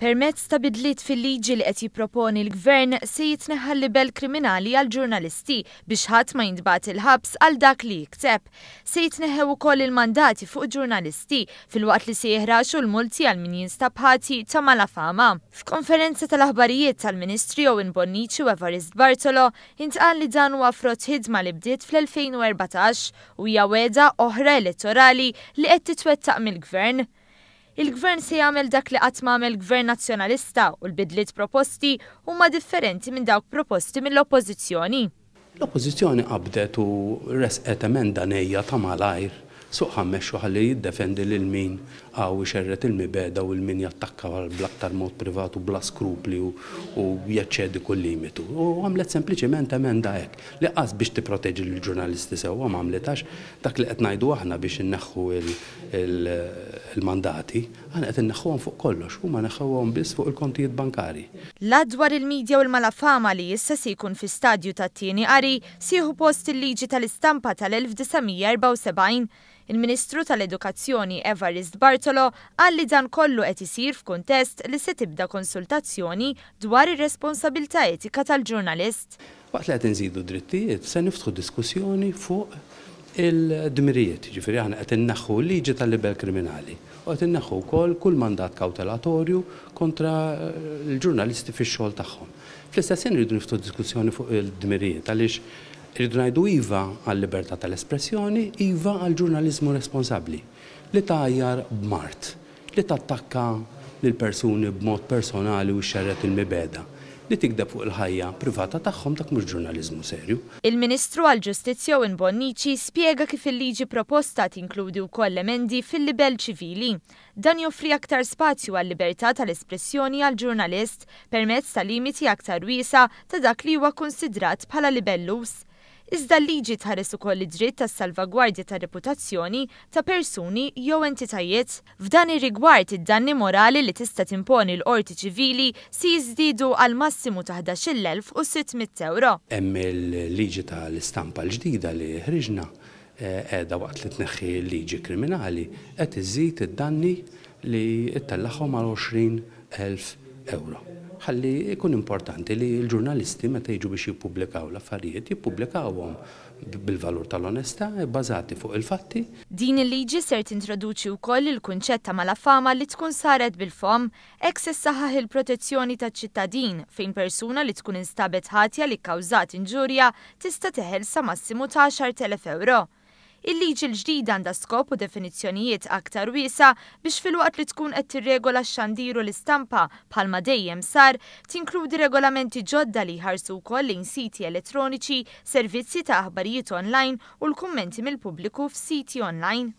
Permezz ta' bidliet fil-liġi li qed jipproponi l-Gvern se jitneħħa l-libell kriminali għall-ġurnalisti biex ħadd ma jintbagħat il-ħabs għal dak li jikteb. Se jitneħħew ukoll il-mandati fuq ġurnalisti filwaqt li se jiħraxu l-multi għal min jinstab ħati ta' malafama. F'konferenza tal-aħbarijiet tal-Ministri Owen Bonnici u Evarist Bartolo intqal li dan huwa frott ħidma li bdiet fl-2014 u hija wegħda oħra elettorali li qed titwettaq mill-Gvern. Il-Gvern se jagħmel dak li qatt m'għamel Gvern Nazzjonalista u l-bidliet proposti huma differenti minn dawk proposti mill-Oppożizzjoni. L-Oppożizzjoni qabdet u ressqet emenda nejja ta' malajr suq ħa mmexxu ħalli jiddefendi lil min hawn ixerred il-mibegħda u 'l min jattakka bl-aktar mod privat u bla skrupli u jeċċedi kull limitu. U għamlet sempliċiment emenda hekk li qas biex tipproteġi lill-ġurnalisti sewwa m'għamlithax. Dak li qed ngħidu aħna biex inneħħu il-mandati, aħna qed inneħħuhom fuq kollox, huma neħħewhom biss fuq il-kontijiet bankarji. L-Att dwar il-Media u l-Malafama li issa se jkun fi stadju tat-tieni qari se jieħu post il-Liġi tal-Istampa tal-1974. Il-Ministru tal-Edukazzjoni Evarist Bartolo qal li dan kollu qed isir f'kuntest li se tibda konsultazzjoni dwar ir-responsabilità etika tal-ġurnalist. Waqt li qed inżidu d-drittijiet, se niftħu diskussjoni fuq il-dmirijiet. Jiġifieri aħna qed inneħħu l-liġi tal-libell kriminali u qed inneħħu wkoll kull mandat kawtelatorju kontra l-ġurnalisti fix-xogħol tagħhom. Fl-istess ħin irridu niftħu diskussjoni fuq il-dmirijiet għaliex irridu ngħidu iva għal-libertà tal-espressjoni, iva għall-ġurnaliżmu responsabbli li tgħajjar b'mard. Li tattakka lil persuni b'mod personali u xxerred il-mibegħda, li tigdeb fuq il-ħajja privata tagħhom dak mhux ġurnaliżmu serju. Il-Ministru għall-Ġustizzja Owen Bonnici spjega kif il-liġi proposta tinkludi wkoll emendi fil-libell ċivili. Dan joffri aktar spazju għal-libertà tal-espressjoni għall-ġurnalist permezz ta' limiti aktar wiesgħa ta' dak li huwa kkunsidrat bħala libelluż. Iżda l-liġi tħares ukoll id-dritt għas-salvagwardja tar-reputazzjoni ta' persuni jew entitajiet. F'dan ir-rigward, id-danni morali li tista' timponi l-qorti ċivili se jiżdiedu għal massimu ta' 11,600 ewro. Hemm il-liġi tal-istampa l-ġdida li ħriġna qiegħda waqt li tneħħi l-liġi kriminali qed iżżid id-danni li ttellagħhom għal 20,000 ewro. Ħalli jkun importanti li l-ġurnalisti meta jiġu biex jippubblikaw l-affarijiet jippubblikawhom bil-valur tal-onestà, ibbażati fuq il-fatti. Din il-liġi ser tintroduċi wkoll il-kunċett ta' malafama li tkun saret bil-fomm. Hekk se ssaħħaħ il-protezzjoni taċ-ċittadin fejn persuna li tkun instabet ħatja li kkawżat inġurja tista' teħel sa massimu ta' 10,000 ewro. Il-liġi l-ġdida għandha skop u definizzjonijiet aktar wiesgħa biex filwaqt li tkun qed tirregola x-xandir u l-istampa bħalma dejjem sar, tinkludi regolamenti ġodda li jħarsu wkoll lejn siti elettroniċi, servizzi ta' aħbarijiet online u l-kummenti mill-pubbliku f'siti online.